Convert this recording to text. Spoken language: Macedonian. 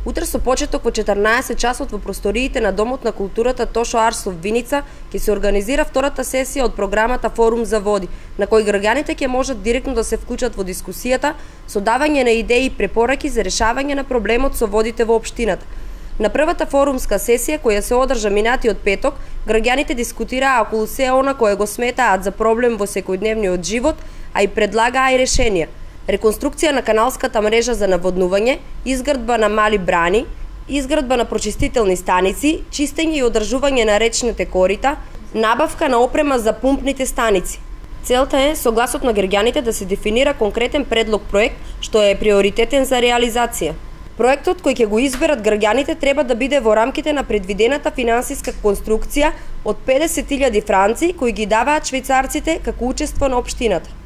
Утре со почеток во 14 часот во просториите на Домот на културата Тошо Арсов Виница ќе се организира втората сесија од програмата Форум за води, на кој граѓаните ќе можат директно да се вклучат во дискусијата со давање на идеи и препораки за решавање на проблемот со водите во општината. На првата форумска сесија, која се одржа минатиот петок, граѓаните дискутираа околу се она кое го сметаат за проблем во секојдневниот живот, а и предлагаа и решенија. Реконструкција на каналската мрежа за наводнување, изградба на мали брани, изградба на прочистителни станици, чистење и одржување на речните корита, набавка на опрема за пумпните станици. Целта е, со гласот на граѓаните, да се дефинира конкретен предлог проект што е приоритетен за реализација. Проектот кој ќе го изберат граѓаните треба да биде во рамките на предвидената финансиска конструкција од 50.000 франци кои ги даваат швајцарците како учество на општината.